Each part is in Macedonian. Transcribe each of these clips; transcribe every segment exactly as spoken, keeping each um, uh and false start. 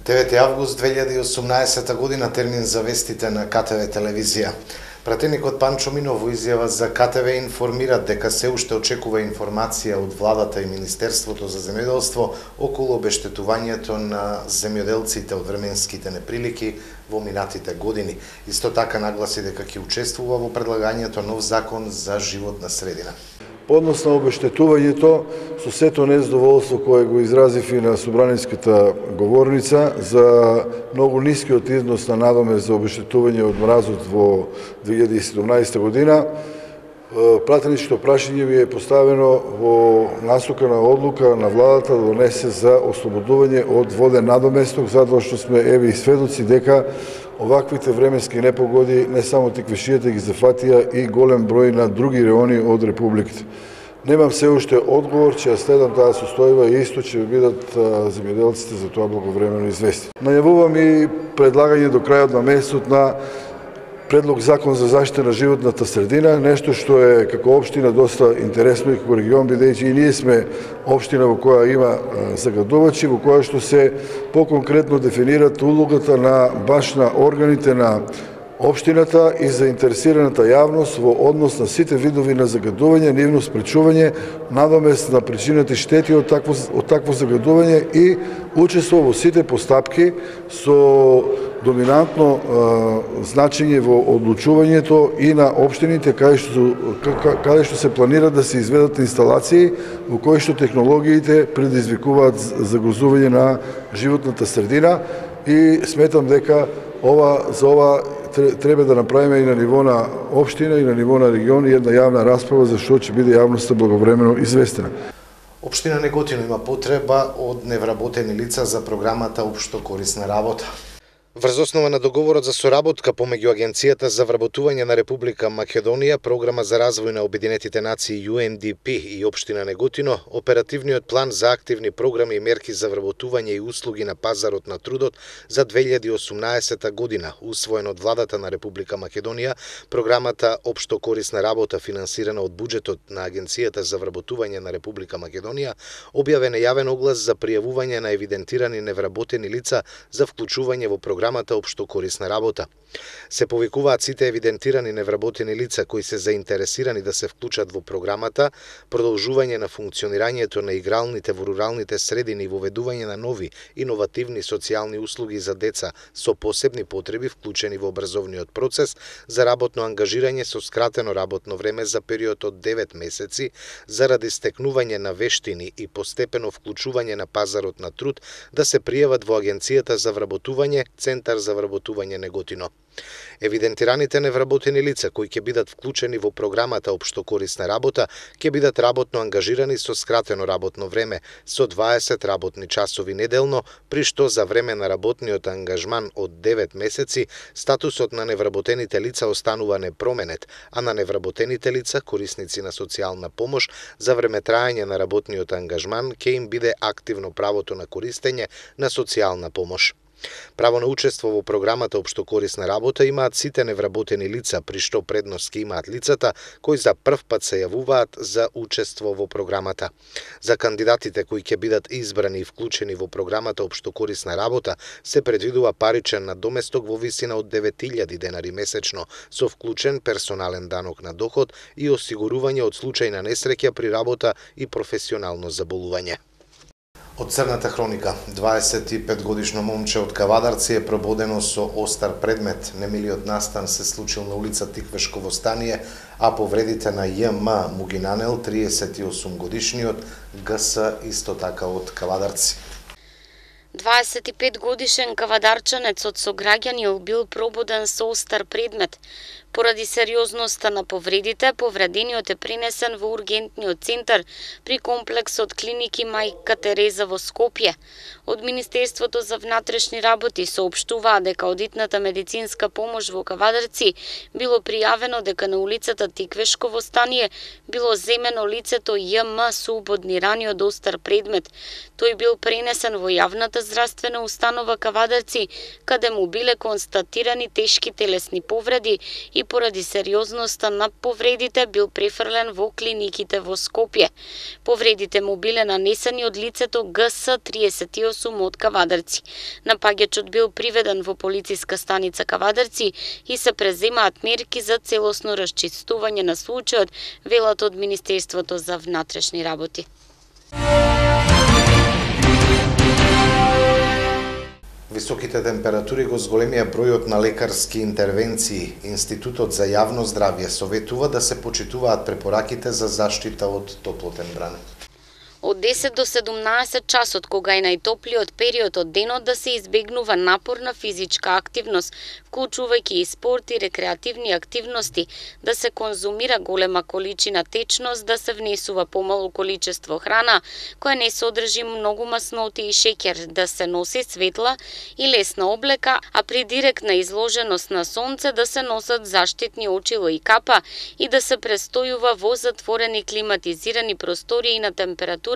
девети август две илјади и осумнаесета година, термин за вестите на Ка Те Ве телевизија. Пратеникот Панчо Минов во изјава за Ка Те Ве информира дека се уште очекува информација од владата и Министерството за земјоделство околу обештетувањето на земјоделците од временските неприлики во минатите години. Исто така нагласи дека ќе учествува во предлагањето нов закон за животна средина. По однос на обештетувањето, со сето незадоволство кое го изразив и на собраниската говорница за многу нискиот износ на надомест за обештетување од мразот во две илјади и седумнаесета година, пратеничкото прашање ви е поставено во насока на одлука на владата да донесе за ослободување од воден надоместок, затоа што сме еве и сведоци дека оваквите временски непогоди не само тиквешијата ги зафатија и голем број на други реони од републиката. Немам се уште одговор, че ја следам таа состојба и исто ќе бидат земјоделците за тоа благовремено известни. Најавувам и предлагање до крајот на месецот на предлог закон за заштита на животната средина, нешто што е како општина доста интересно и како регион, бидејќи и ние сме општина во која има загадувачи, во која што се поконкретно дефинират улогата на баш на органите на општината и заинтересираната јавност во однос на сите видови на загадување, нивно спречување, надомест на причинати штети од такво, од такво загадување и учество во сите постапки со доминантно е, значење во одлучувањето и на општините каде што, каде што се планира да се изведат инсталации во кои што технологиите предизвикуваат загрозување на животната средина и сметам дека ова за ова треба да направиме и на ниво на општина и на ниво на регион и една јавна расправа за што ќе биде јавноста благовремено известена. Општина Неготино има потреба од невработени лица за програмата Општо корисна работа. Врз основа на договорот за соработка помеѓу Агенцијата за вработување на Република Македонија, Програма за развој на Обединетите нации Ю Ен Ди Пи и Општина Неготино, оперативниот план за активни програми и мерки за вработување и услуги на пазарот на трудот за две илјади и осумнаесета година, усвоен од владата на Република Македонија, програмата Општо корисна работа финансирана од буџетот на Агенцијата за вработување на Република Македонија, објавен е јавен оглас за пријавување на евидентирани невработени лица за вклучување во програмата Општо корисна работа. Се повикуваат сите евидентирани невработени лица кои се заинтересирани да се вклучат во програмата, продолжување на функционирањето на игралните во руралните средини и воведување на нови иновативни социјални услуги за деца со посебни потреби вклучени во образовниот процес, за работно ангажирање со скратено работно време за период од девет месеци, заради стекнување на вештини и постепено вклучување на пазарот на труд, да се пријават во Агенцијата за вработување, Центар за вработување Неготино. Евидентираните невработени лица кои ќе бидат вклучени во програмата Општо корисна работа ќе бидат работно ангажирани со скратено работно време со дваесет работни часови неделно, при што за време на работниот ангажман од девет месеци статусот на невработените лица останува непроменет, а на невработените лица, корисници на социјална помош, за време траење на работниот ангажман ќе им биде активно правото на користење на социјална помош. Право на учество во програмата Општо корисна работа имаат сите невработени лица, при што предност ќе имаат лицата кои за прв пат се јавуваат за учество во програмата. За кандидатите кои ќе бидат избрани и вклучени во програмата Општо корисна работа се предвидува паричен надоместок во висина од девет илјади денари месечно со вклучен персонален данок на доход и осигурување од случај на несреќа при работа и професионално заболување. Од црната хроника, дваесет и пет годишно момче од Кавадарци е прободено со остар предмет. Немилиот настан се случил на улица Тиквешко во Станије, а повредите на Ј М му ги нанел триесет и осум годишниот Г С исто така од Кавадарци. дваесет и пет годишен кавадарчанец од сограѓани бил прободен со остар предмет. Поради сериозноста на повредите, повредениот е пренесен во ургентниот центар при комплексот клиники Мајка Тереза во Скопје. Од Министерството за внатрешни работи соопштуваа дека одитната медицинска помош во Кавадарци било пријавено дека на улицата Тиквешко во Станије било земено лицето Ј М со убодни рани од остар предмет. Тој бил пренесен во јавната здравствена установа Кавадарци, каде му биле констатирани тешки телесни повреди и поради сериозноста на повредите бил префрлен во клиниките во Скопје. Повредите му биле нанесени од лицето Г С триесет и осум од Кавадарци. Напаѓачот бил приведен во полициска станица Кавадарци и се преземаат мерки за целосно расчистување на случајот, велат од Министерството за внатрешни работи. Високите температури го зголемија бројот на лекарски интервенции. Институтот за јавно здравје советува да се почитуваат препораките за заштита од топлотен бран. Од десет до седумнаесет часот, кога е најтоплиот период од денот, да се избегнува напорна физичка активност, вклучувајќи и спорт и рекреативни активности, да се конзумира голема количина течност, да се внесува помало количество храна, која не содржи многу масноти и шеќер, да се носи светла и лесна облека, а при директна изложеност на сонце да се носат заштитни очило и капа и да се престојува во затворени климатизирани простории на температура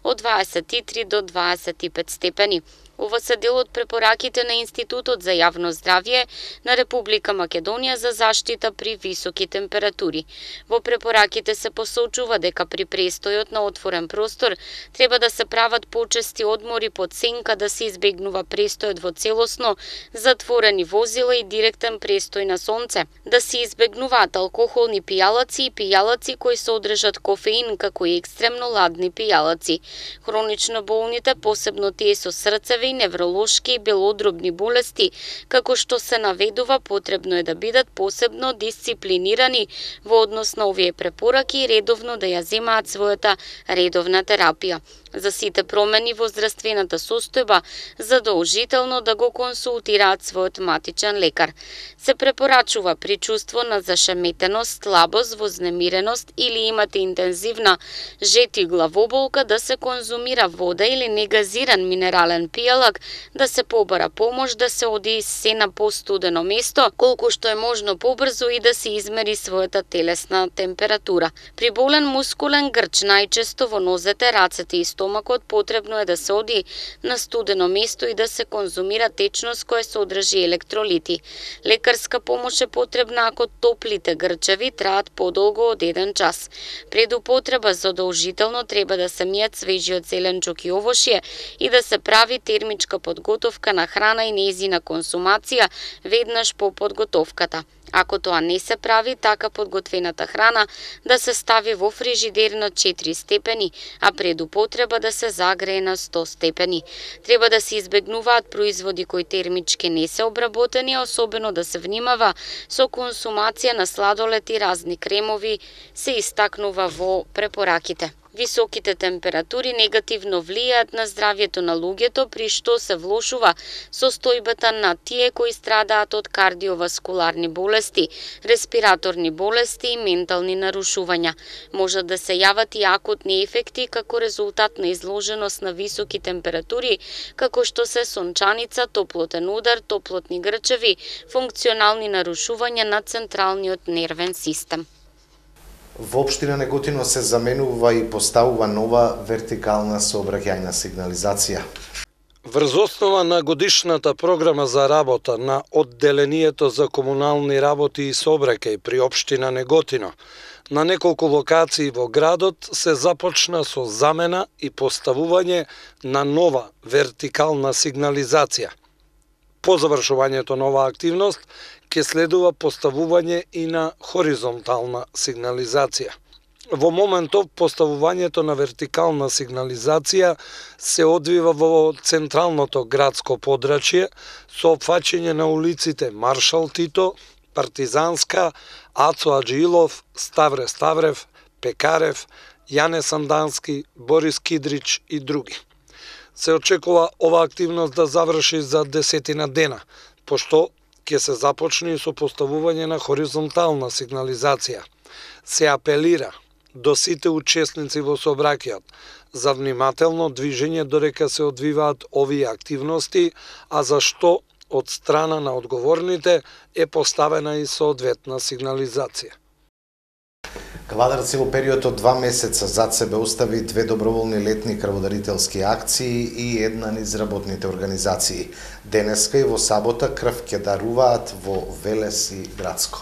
од дваесет и три до дваесет и пет степени. Ова се дел од препораките на Институтот за јавно здравје на Република Македонија за заштита при високи температури. Во препораките се посочува дека при престојот на отворен простор треба да се прават почести одмори под сенка, да се избегнува престојот во целосно затворени возила и директен престој на сонце, да се избегнуваат алкохолни пијалаци и пијалаци кои содржат кофеин, како и екстремно ладни пијалаци. Хронично болните, посебно тие со срцеви, невролошки и белодробни болести, како што се наведува, потребно е да бидат посебно дисциплинирани во однос на овие препораки и редовно да ја земаат својата редовна терапија. За сите промени во здравствената состојба, задолжително да го консултираат својот матичен лекар. Се препорачува при чувство на зашеметеност, слабост, вознемиреност или имате интензивна жет и главоболка да се конзумира вода или негазиран минерален пијалак, да се побара помош, да се оди се на постудено место, колку што е можно побрзо и да се измери својата телесна температура. При болен мускулен грч, најчесто во нозете, рацете и стомакот, потребно е да се оди на студено место и да се конзумира течност која содржи електролити. Лекарска помош е потребна ако топлите грчеви траат подолго од еден час. Пред употреба задолжително треба да се мијат свежиот зеленчук и овошје и да се прави термичка подготовка на храна и нејзина консумација веднаш по подготовката. Ако тоа не се прави, така подготвената храна да се стави во фрижидер на четири степени, а пред употреба да се загрее на сто степени. Треба да се избегнуваат производи кои термички не се обработени, а особено да се внимава со консумација на сладолед и разни кремови, се истакнува во препораките. Високите температури негативно влијаат на здравјето на луѓето, при што се влошува состојбата на тие кои страдаат од кардиоваскуларни болести, респираторни болести и ментални нарушувања. Можат да се јават и акутни ефекти како резултат на изложеност на високи температури, како што се сончаница, топлотен удар, топлотни грчеви, функционални нарушувања на централниот нервен систем. Во општина Неготино се заменува и поставува нова вертикална сообраќајна сигнализација. Врз основа на годишната програма за работа на Одделението за комунални работи и сообраќај при општина Неготино, на неколку локации во градот се започна со замена и поставување на нова вертикална сигнализација. По завршувањето на оваа активност, ќе следува поставување и на хоризонтална сигнализација. Во моментов поставувањето на вертикална сигнализација се одвива во централното градско подрачје со опфаќање на улиците Маршал Тито, Партизанска, Ацо Аджилов, Ставре Ставрев, Пекарев, Јане Сандански, Борис Кидрич и други. Се очекува ова активност да заврши за десетина дена, пошто ќе се започне со поставување на хоризонтална сигнализација. Се апелира до сите учесници во сообраќајот за внимателно движење додека се одвиваат овие активности, а за што од страна на одговорните е поставена и соодветна сигнализација. Кавадарци во период од два месеца зад себе остави две доброволни летни крводарителски акции и една низ работните организации. Денеска и во сабота крв ќе даруваат во Велес и Градско.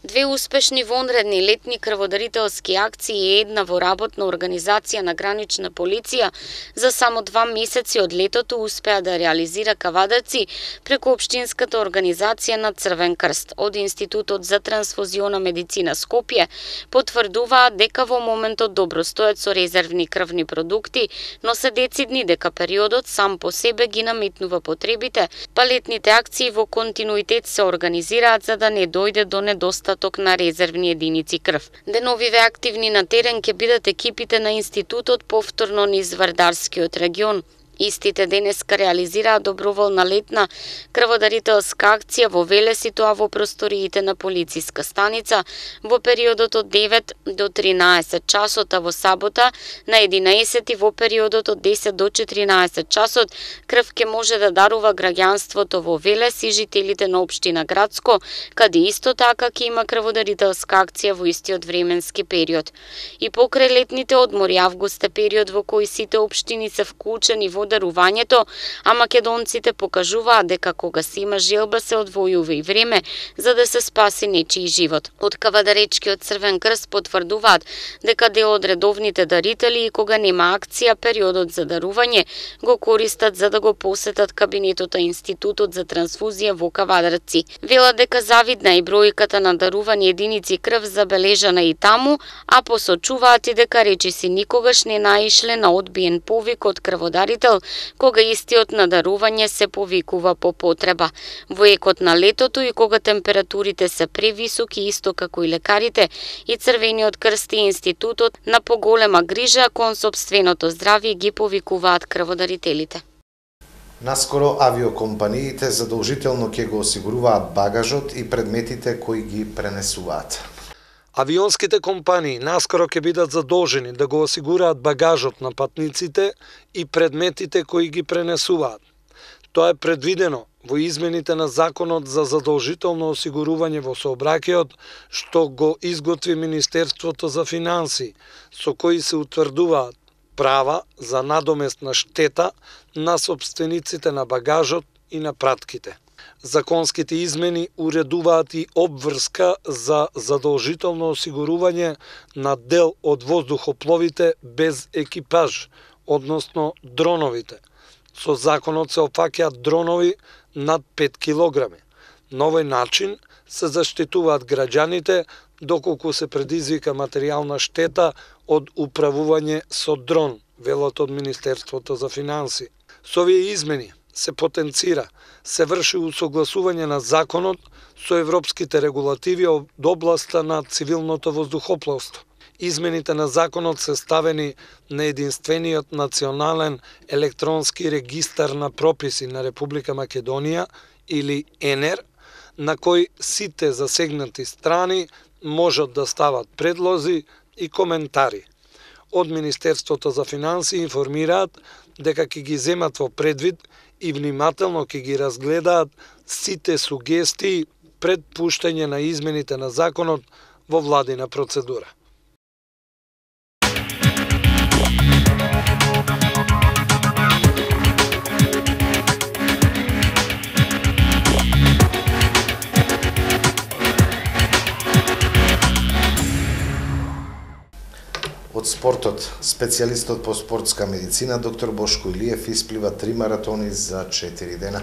Две успешни вонредни летни крводарителски акции и една во работна организација на гранична полиција за само два месеци од летото успеа да реализира Кавадарци преку општинската организација на Црвен крст. Од Институтот за трансфузиона медицина Скопје потврдуваат дека во моментот добро стојат со резервни крвни продукти, но се децидни дека периодот сам по себе ги наметнува потребите, па летните акции во континуитет се организираат за да не дојде до недостаток на резервни единици крв. Деновиве активни на терен ќе бидат екипите на Институтот повторно низ Вардарскиот регион. Истите денеска реализираат доброволна летна крводарителска акција во Велес и тоа во просториите на полициска станица во периодот од девет до тринаесет часот, а во сабота на единаесет во периодот од десет до четиринаесет часот крв ќе може да дарува граѓанството во Велес и жителите на општина Градско, каде исто така ќе има крводарителска акција во истиот временски период. И покрај летните одмори август е период во кој сите општини се вклучени во дарувањето, а македонците покажуваат дека кога се има желба се одвојува и време за да се спаси нечiji живот. Од Кавадаречкиот Црвен крст потврдуваат дека дел од редовните дарители и кога нема акција, периодот за дарување го користат за да го посетат кабинетот на Институтот за трансфузија во Кавадарци. Велат дека завидна и бројката на дарувани единици крв забележана и таму, а посочуваат и дека речиси никогаш не наишле на одбиен повик од крводарител кога истиот на дарување се повикува по потреба. Во екот на летото и кога температурите се превисоки, исто како и лекарите, и Црвениот крст и Институтот на поголема грижа кон сопственото здравје ги повикуваат крводарителите. Наскоро авиокомпаниите задолжително ќе го осигуруваат багажот и предметите кои ги пренесуваат. Авионските компании наскоро ќе бидат задолжени да го осигураат багажот на патниците и предметите кои ги пренесуваат. Тоа е предвидено во измените на Законот за задолжително осигурување во сообраќајот, што го изготви Министерството за финансии, со кои се утврдуваат права за надоместна штета на собствениците на багажот и на пратките. Законските измени уредуваат и обврска за задолжително осигурување на дел од воздухопловите без екипаж, односно дроновите. Со законот се опфаќаат дронови над пет килограми. На овој начин се заштитуваат граѓаните доколку се предизвика материјална штета од управување со дрон, велат од Министерството за финансии. Со овие измени се потенцира, се врши усогласување на законот со европските регулативи од областа на цивилното воздухопловство. Измените на законот се ставени на единствениот национален електронски регистар на прописи на Република Македонија или ЕНЕР, на кој сите засегнати страни можат да стават предлози и коментари. Од Министерството за финансии информираат дека ќе ги земат во предвид и внимателно ќе ги разгледаат сите сугестии пред пуштање на измените на законот во владина процедура. Од спортот, специјалистот по спортска медицина доктор Бошко Илиев исплива три маратони за четири дена.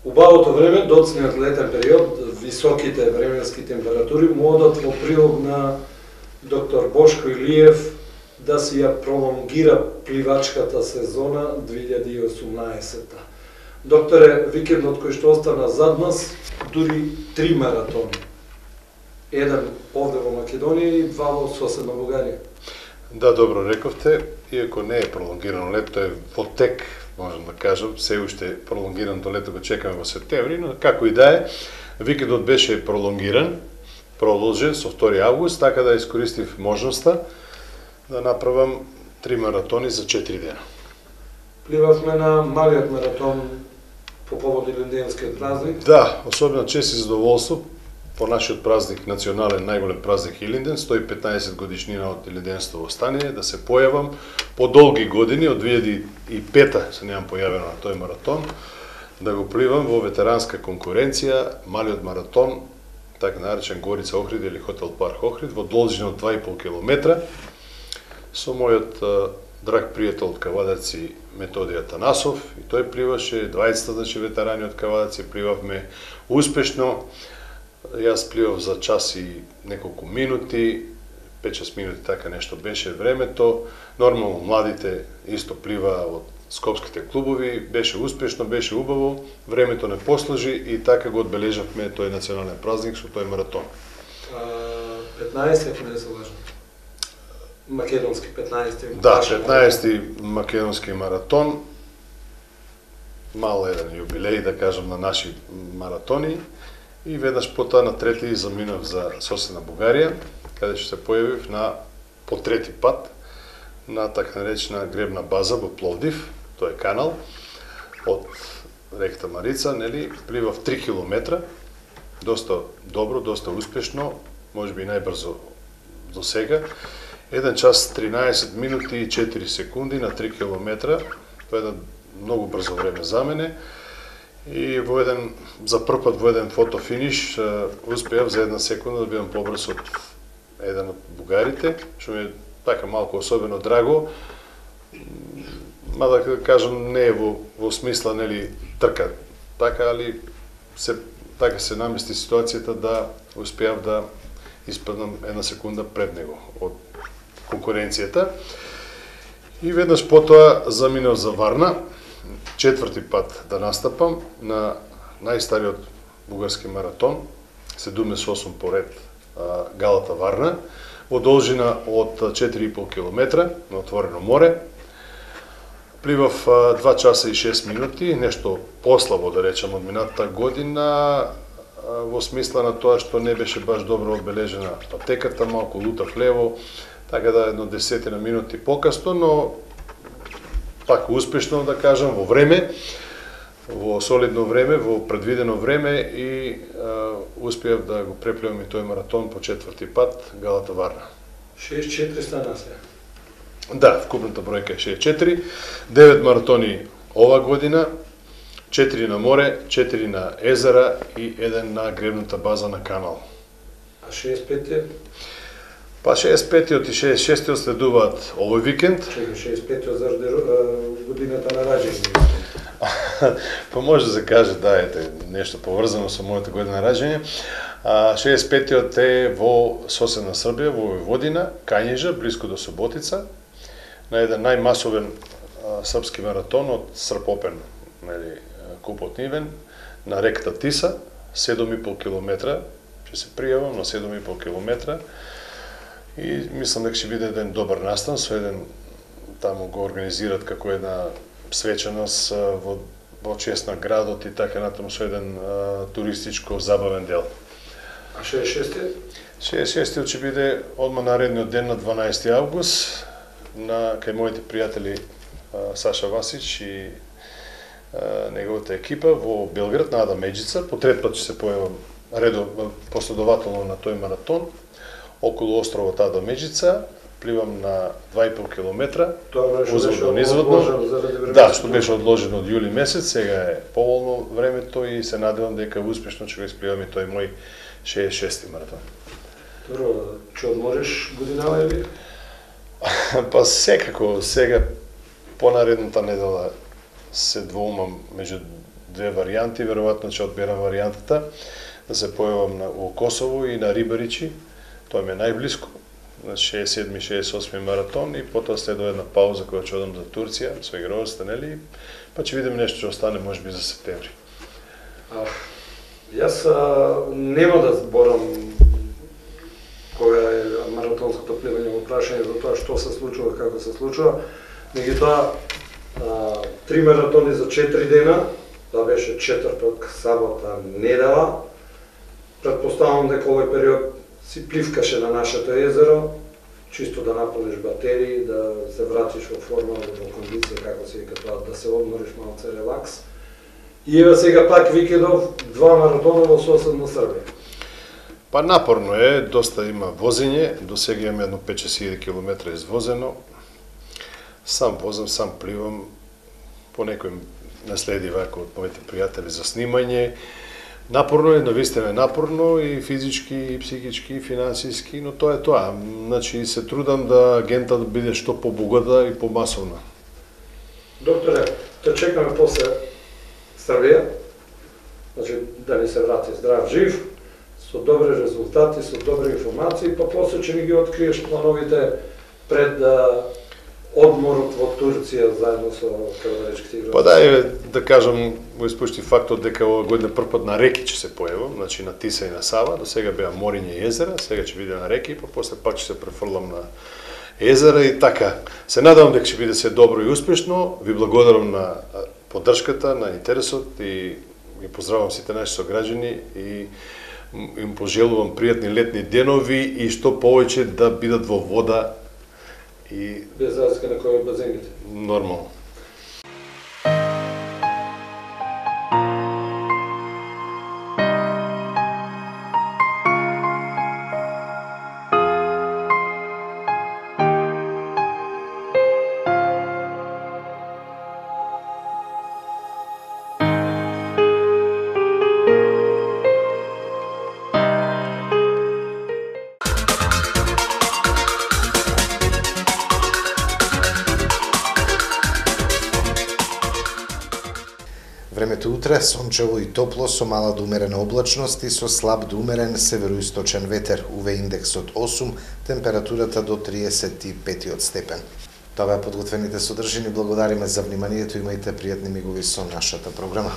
Убавото време, доцниот летен период, високите временски температури му одат во прилог на доктор Бошко Илиев да си ја пролонгира пливачката сезона две илјади и осумнаесетта. Докторе, викендот кој што остана зад нас, дури три маратони. Еден овде во Македонија и два во соседна Бугарија. Да, добро рековте, иако не е пролонгирано лето, е во тек, можам да кажам, се уште пролонгираното лето го чекаме во септември, но како и да е, викендот беше пролонгиран, продолжен со втори август, така да искористив можноста да направам три маратони за четири дена. Пливавме на малиот маратон по повод Илинденскиот празник. Да, особено чест и задоволство по нашиот празник, национален најголем празник Илинден, сто и петнаесет годишнина од Илинденство востание, да се појавам по долги години, од две илјади и пета се немам појавено на тој маратон, да го пливам во ветеранска конкуренција, малиот маратон така наречен Горица Охрид или Хотел Парк Охрид, во должина од два и пол километра, со мојот драг пријател од Кавадарци Методија Танасов, и тој пливаше, дваесет значи ветерани од Кавадарци, пливавме успешно. Јас пливав за час и неколку минути, пет-шест минути, така нешто беше времето. Нормално младите исто плива од скопските клубови, беше успешно, беше убаво, времето не послужи и така го одбележавме тој национален празник со тој маратон. петнаесет, ако не се лажам. Македонски петнаесети. Да, петнаесети македонски маратон. Мал еден јубилеј, да кажам, на наши маратони. И веднаш потоа на трети заминав за соседна Бугарија, каде што се појавив на по трети пат на така наречена гребна база во Пловдив, тој е канал од реката Марица, нели, пливав три километра, доста добро, доста успешно, можеби најбрзо до сега. еден час тринаесет минути и четири секунди на три километра, тоа е едно многу брзо време за мене. И во еден, за прв пат во еден фотофиниш успеав за една секунда да бидам побрз од еден од бугарите, што ми е така малку особено драго. Мада да кажам, не е во, во смисла, нели, трка, така, али се, така се намести ситуацијата да успеав да испаднам една секунда пред него од конкуренцијата. И веднаш потоа заминав за Варна, четврти пат да настапам на најстариот бугарски маратон, седумдесет и осум поред, Галата Варна, во должина од четири и пол километра на отворено море. Пливав два часа и шест минути, нешто послабо да речам од минатата година, во смисла на тоа што не беше баш добро одбележена патеката, малку лутав лево, така да едно десетина минути покасно, но пак успешно, да кажам, во време, во солидно време, во предвидено време и а, успеав да го преплевам и тој маратон по четврти пат, Галата Варна. шеесет и четири стана се. Да, вкупната бројка е шеесет и четири, девет маратони ова година, четири на море, четири на езера и еден на гребната база на канал. А шеесет и пет? Па шеесет и петиот и шеесет и шестиот следуваат овој викенд. Чекай, шеесет и петиот заради годината на раѓање. Па може да се каже, да, ете, нешто поврзано со мојата година на раѓање. А шеесет и петиот е во соседна Србија, во Војводина, Кањежа, близко до Суботица, на еден најмасовен а, српски маратон од Српопен, нели, купот нивен, на реката Тиса, седум и пол километра, ќе се пријавам на седум и пол километра. И мислам дека ќе биде еден добар настан, со еден, таму го организират како една свеченост во, во чест на градот и така натаму со еден а, туристичко забавен дел. А шеесет и шестиот? шеесет и шестиот ќе биде одма наредниот ден на дванаесети август на кај моите пријатели а, Саша Васич и а, неговата екипа во Белград на Ада Меджица. По трет пат ќе се појавам редо последователно на тој маратон околу островот Ада Меджица. Пливам на два и пол километра. Тоа беше одложено заради времето. Да, што беше одложено од јули месец, сега е поволно времето и се надевам дека успешно ќе го испливам и тој мој шеесет и шести маратон. Добро, ќе одмориш годинава или? Па секако, сега понаредната недела се двоумам меѓу две варијанти, веројатно ќе одберам варијантата да се појавам на во Косово и на Рибаричи. Тоа ми е најблиско, на шеесет и седми шеесет и осми маратон и потоа следува една пауза која ќе одам за Турција со игровоста, нели? Па ќе видиме нешто ќе остане можеби за септември. А, јас а, нема да зборам која е маратонското пливање во прашање за тоа што се случува, како се случува. Меѓутоа, три маратони за четири дена, тоа беше четврток, сабота, недела. Претпоставам дека овој период си пливкаше на нашето езеро, чисто да наполниш батерии, да се вратиш во форма, во кондиција, како се вика тоа, да се одмориш малце релакс. И еве сега пак викендов два маратона во соседна Србија. Па напорно е, доста има возење, до сега имам едно пет-шест илјади километра извозено. Сам возам, сам пливам, по некој наследи вака од моите пријатели за снимање. Напорно е, навистина е напорно и физички, и психички, и финансиски, но тоа е тоа. Значи се трудам да агента да биде што побогата и помасовна. Докторе, те чекаме после Србија, значи да ни се врати здрав, жив, со добри резултати, со добри информации, па после ќе ни ги откриеш плановите пред да одморот во Турција заедно со кавадаричките играчи. Па да, е, да кажам, го испушти фактот дека ова година прв пат на реки ќе се појавам, значи на Тиса и на Сава, до сега беа мориња и езера, сега ќе биде на реки, па после пак ќе се префрлам на езера и така. Се надевам дека ќе биде се добро и успешно. Ви благодарам на поддршката, на интересот и ги поздравам сите наши сограѓани и им пожелувам пријатни летни денови и што повеќе да бидат во вода и без разлика на кој од базените. Нормално. Времето утре сончево и топло со мала до умерена облачност и со слаб до умерен североисточен ветер, У В индексот осум, температурата до триесет и пет степен. Тоа беа подготвените содржини, благодариме за вниманието, имајте пријатни мигови со нашата програма.